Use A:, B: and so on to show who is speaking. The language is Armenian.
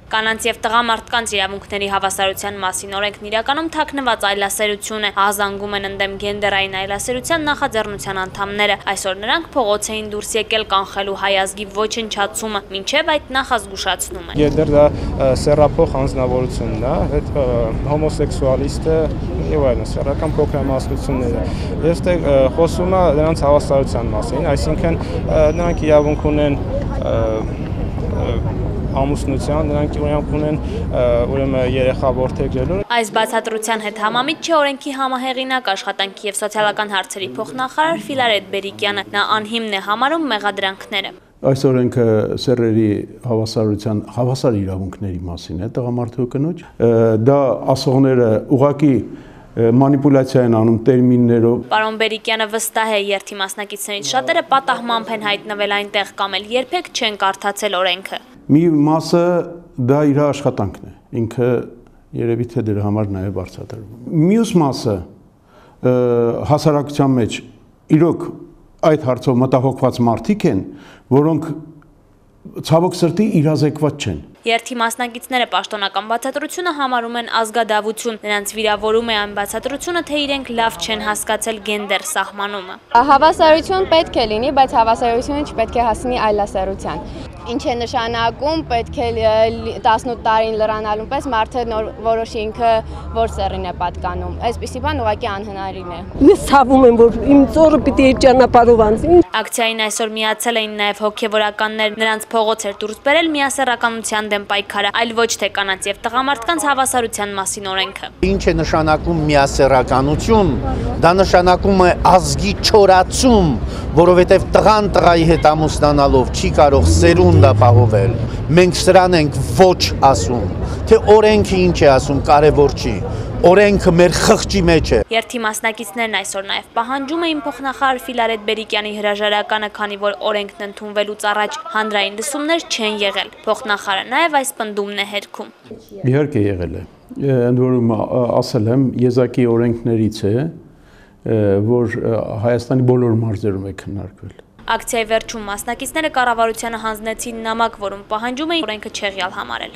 A: Կանանց եւ տղամարդկանց իրավունքների հավասարության մասին օրենքն իրականում թաքնված այլասերություն է, ահազանգում են ընդդեմ գենդերային այլասերության նախաձեռնության անդամները։ Այսօր նրանք փողոց էին դուրս եկել կանխելու հայ ազգի ոչնչացումը, մինչև այդ նախազգուշացնում են։
B: Գենդեր դա սեռափող անձնավորությունն է, այդ հոմոսեքսուալիստը եւ այլն, սեռական փոքրամասնությունները։ Ես դե խոսում եմ նրանց հավասարության մասին, այսինքն նրանք իրավունք ունեն ամուսնության, նրանք իրավունք ունեն ուրեմն երեխա որդեգրելու։
A: Այս բացատրության հետ համամիտ չէ օրենքի համահեղինակ աշխատանքի եւ սոցիալական հարցերի փոխնախարար Ֆիլարետ Բերիկյանը, նա անհիմն է համարում մեղադրանքները։
C: Այս օրենքը սեռերի հավասարության հավասար իրավունքների մասին է տղամարդու կնոջ, դա ասողները ուղղակի մանիպուլյացիա են անում տերմիններով։
A: Պարոն Բերիկյանը վստահ է, երթի մասնակիցներից շատերը պատահմամբ են հայտնվել այնտեղ կամ էլ երբեք չեն կարդացել օրենքը։
C: Մի մասը դա իր աշխատանքն է, ինքը երևի թե դրա համար նաև բարձրացնում։ Մյուս մասը հասարակության մեջ իրոք այդ հարցով մտահոգված մարդիկ են, որոնք ցավոք սրտի իրազեկված չեն։
A: Երթի մասնակիցները պաշտոնական բացատրությունը համարում են ազգադավություն, նրանց վիրավորում է այն բացատրությունը, թե իրենք լավ չեն հասկացել գենդեր սահմանումը։
D: Հավասարություն պետք է լինի, բայց հավասարությունը չպետք է հասնի այլասերության։ Ինչ է նշանակում, պետք է 18 տարին լրանալու պես մարդը որոշի ինքը որ սեռին է պատկանում։ Այսպիսի բան ուղղակի անհնարին է։
E: Ես ցավում եմ, որ իմ ծորը պիտի այդ ճանապարհով անցնի։
A: Ակցիային այսօր միացել էին նաև հոգևորականներ, նրանց փողոց էր դուրս բերել միասեռականության դեմ պայքարը, այլ ոչ թե կանանց եւ տղամարդկանց հավասարության մասին օրենքը։
F: Ինչ է նշանակում միասեռականություն, դա նշանակում է ազգի չորացում, որովհետև տղան տղայի հետ ամուսնանալով չի կարող սերունդ ապահովել։ Մենք սրան ենք ոչ ասում, թե օրենքը ինչ է ասում, կարևոր չի։ Օրենքը մեր խղճի մեջ է։
A: Երթի մասնակիցներն այսօր նաև պահանջում էին փոխնախարար Ֆիլարետ Բերիկյանի հրաժարականը, քանի որ օրենքն ընդունվելուց առաջ հանրային լսումներ չեն եղել։ Փոխնախարարը նաև այս պնդումն է հերքում։
C: Իհարկե եղել է։ Ընդ որում ասել եմ, եզակի օրենքներից է, որ Հայաստանի բոլոր մարզերում է քննարկվել։
A: Ակցիայի վերջում մասնակիցները կառավարությանը հանձնեցին նամակ, որում պահանջում էին օրենքը չեղյալ համարել։